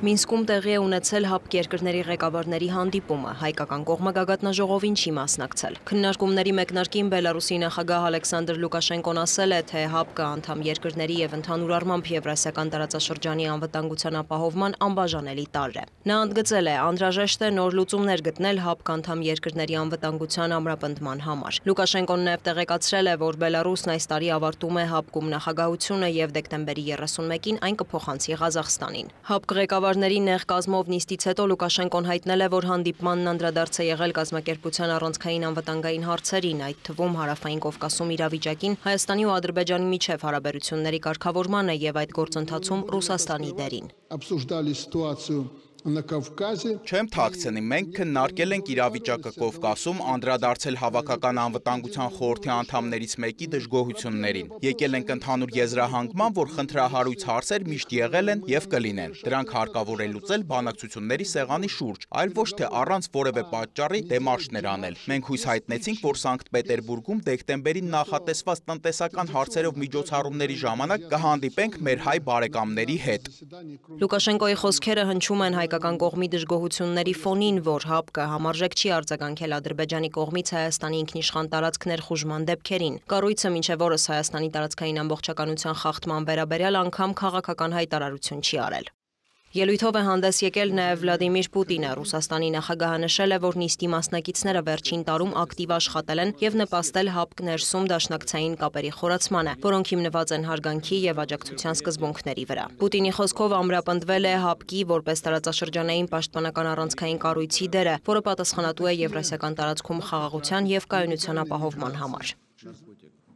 Մինսկում տեղի է ունեցել ՀԱՊԿ երկրների ղեկավարների հանդիպումը, հայկական կողմը գագաթնաժողովին չի մասնակցել։ Քննարկումների մեկնարկին Բելարուսի նախագահ Ալեքսանդր Լուկաշենկոն ասել է, թե ՀԱՊԿ անդամ երկրների եւ ընդհանուր առմամբ Եվրասիական տարածաշրջանի անվտանգության ապահովման անբաժանելի տարր է։ Նա ընդգծել է, անհրաժեշտ է նոր լուծումներ գտնել ՀԱՊԿ անդամ երկրների անվտանգության ամրապնդման համար։ Լուկաշենկոն նաև տեղեկացրել է, որ Բելարուսն այս տարի ավարտում է ՀԱՊԿ-ում նախագահությունը եւ դեկտեմբերի 31-ին այն կփոխանցի Ղազախստանին։ ՀԱՊԿ ղեկավարների նեղ կազմով նիստից հետո Լուկաշենկոն հայտնել է, որ հանդիպմանն անդրադարձ է եղել կազմակերպության առանցքային անվտանգային հարցերին, այդ թվում Հարավային Կովկասում իրավիճակին, Հայաստանի ու Ադրբեջանի միջև հարաբերությունների կարգավորմանը եւ այդ գործընթացում Ռուսաստանի դերին։ Չեմ թաքցնի, մենք քննարկել ենք իրավիճակը Կովկասում, անդրադարձել հավաքական անվտանգության խորհրդի անդամներից մեկի դժգոհություններին։ Եկել ենք ընդհանուր եզրահանգման, որ խնդրահարույց հարցեր միշտ եղել են եւ կլինեն։ Դրանք հարկավոր է լուծել բանակցությունների սեղանի շուրջ, այլ ոչ թե առանց որևէ պատճառի դեմարշներ անել։ Մենք հույս հայտնեցինք, որ Սանկտ Պետերբուրգում դեկտեմբերին նախատեսված տնտեսական հարցերով միջոցառումների ժամանակ կհանդիպենք մեր հայ բարեկամների հետ։ Լուկաշենկոյի խոսքերը հնչում են հայկական կողմի դժգոհությունների ֆոնին, որ ՀԱՊԿ-ը համարժեք չի արձագանքել Ադրբեջանի կողմից Հայաստանի ինքնիշխան տարածք ներխուժման դեպքերին։ Կառույցը մինչև օրս Հայաստանի տարածքային ամբողջականության խախտման վերաբերյալ անգամ քաղաքական հայտարարություն չի արել։ Ելույթով է հանդես եկել նաև Վլադիմիր Պուտինը։ Ռուսաստանի նախագահը նշել է, որ նիստի մասնակիցները վերջին տարում ակտիվ աշխատել են եւ նպաստել ՀԱՊԿ ներսում դաշնակցային կապերի խորացմանը, որոնք հիմնված են հարգանքի եւ աջակցության սկզբունքների վրա։ Պուտինի խոսքով ամրապնդվել է ՀԱՊԿ-ի որպես տարածաշրջանային պաշտպանական առանցքային կառույցի դերը, որը պատասխանատու է Եվրասիական տարածքում խաղաղության եւ կայունության ապահովման համար։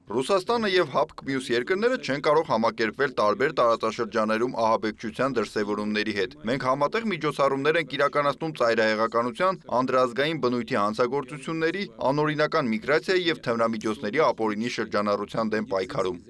Ռուսաստանը եւ ՀԱՊԿ մյուս երկրները չեն կարող համակերպվել տարբեր տարածաշրջաներում ահաբեկչության դրսևորումների հետ։ Մենք համատեղ միջոցառումներ ենք իրականացնում ծայրահեղականության, անդրազգային բնույթի հանցագործությունների, անօրինական միգրացիայի եւ թմրամիջոցների ապօրինի շրջանառության դեմ պայքարում։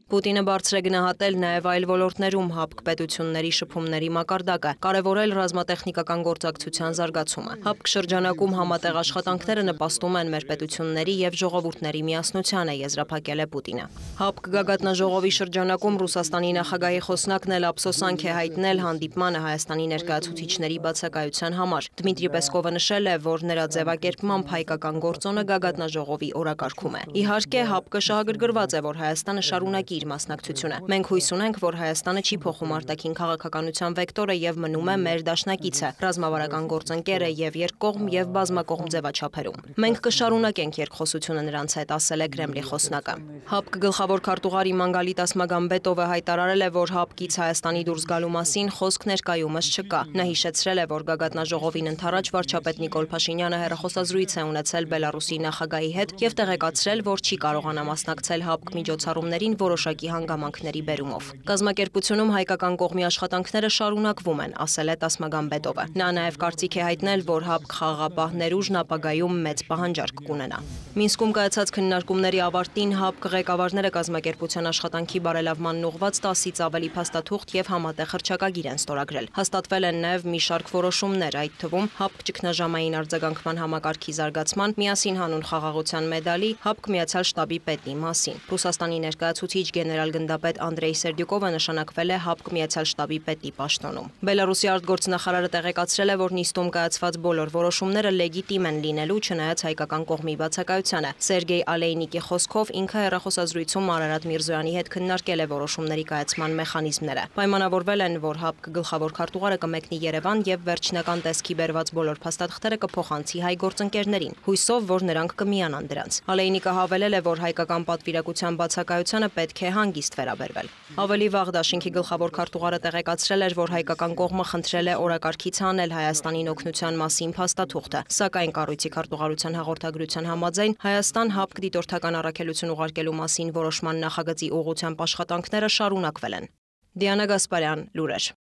Պուտինը բարձր է գնահատել նաև այլ ոլորտներում ՀԱՊԿ պետությունների շփումների մակարդակը, կարևորել ռազմատեխնիկական գործակցության զարգացումը։ ՀԱՊԿ շրջանակում համատեղ աշխատանքները նպաստում են մեր պետությունների եւ ժողովուրդների միասնությանը, եզրափակել է Պուտինը։ ՀԱՊԿ գագաթնաժողովի շրջանակում Ռուսաստանի նախագահի խոսնակն էլ ափսոսանք է հայտնել հանդիպմանը Հայաստանի ներկայացուցիչների բացակայության համար։ Դմիտրի Պեսկովը նշել է, որ նրա ձևակերպմամբ հայկական գործոնը գագաթնաժողովի օրակարգում է։ Իհարկե, ՀԱՊԿ-ը շահագրգռված է, որ Հայաստանը շարունակի իր մասնակցությունը։ Մենք հույս ունենք, որ Հայաստանը չի փոխում արտաքին քաղաքականության վեկտորը եւ մնում է մեր դաշնակիցը, ռազմավարական գործընկերը եւ երկկողմ եւ բազմակողմ ձևաչափերում։ Մենք կշարունակենք երկխոսությունը նրանց հետ, ասել է Կրեմլի խոսնակը։ ՀԱՊԿ գլխավոր քարտուղար Իմանգալիտաս Մագամբետովը հայտարարել է, որ ՀԱՊԿ-ից Հայաստանի դուրս գալու մասին խոսք ներկայումս չկա։ Նա հիշեցրել է, որ գագաթնաժողովին ընդառաջ վարչապետ Նիկոլ Փաշինյանը հեռախոսազրույց է ունեցել Բելարուսի նախագահի հետ եւ տեղեկացրել, որ չի կարողանա մասնակցել ՀԱՊԿ միջոցառումներին որոշակի հանգամանքների բերումով։ Կազմակերպությունում հայկական կողմի աշխատանքները շարունակվում են, ասել է Տասմագամբետովը։ Նա նաև կարծիք է հայտնել, որ ՀԱՊԿ խաղաղապահ ներուժն ապագայում մեծ պահանջարկ կունենա։ Մինսկում կայացած քննարկումների ավարտին ՀԱՊԿ ղեկավարները կազմակերպության աշխատանքի բարելավման ուղղված 10-ից ավելի փաստաթուղթ եւ համատեղ հռչակագիր են ստորագրել։ Հաստատվել են նաև մի շարք որոշումներ, այդ թվում ՀԱՊԿ ճգնաժամային արձագանքման համակարգի զարգացման, միասին հանուն խաղաղության մեդալի, ՀԱՊԿ Միացյալ շտաբի պետի մասին։ Ռուսաստանի ներկայացուցիչ գեներալ-գնդապետ Անդրեյ Սերդյուկովը նշանակվել է ՀԱՊԿ Միացյալ շտաբի պետի պաշտոնում։ Բելարուսի արտգործնախարարը տեղեկացրել է, որ նիստում կայացված բոլոր որոշումները լեգիտիմ են լինելու, չնայած հայկական կողմի բացակայությանը։ Սերգեյ Ալեյնիկի խոսքով ինքը հեռախոսազրույցում Արարատ Միրզոյանի հետ քննարկել է որոշումների կայացման մեխանիզմները։ Պայմանավորվել են, որ ՀԱՊԿ գլխավոր քարտուղարը կմեկնի Երևան եւ վերջնական տեսքի բերված բոլոր փաստաթղթերը կփոխանցի հայ գործընկերներին, հույսով, որ նրանք կմիանան դրանց։ Ալեյնիկը հավելել է, որ հայկական պատվիրակության բացակայությանը պետք է հանգիստ վերաբերվել։ Ավելի վաղ դաշինքի գլխավոր քարտուղարը տեղեկացրել էր, որ հայկական կողմը խնդրել է օրակարգից հանել Հայաստանին օգնության մասին փաստաթուղթը, սակայն կառույցի քարտուղարության հաղորդագրության համաձայն Հայաստան ՀԱՊԿ դիտորդական առաքելություն ուղարկելու մասին որոշման նախագծի ուղղությամբ աշխատանքները շարունակվել են։ Դիանա Գասպարյան, լուրեր։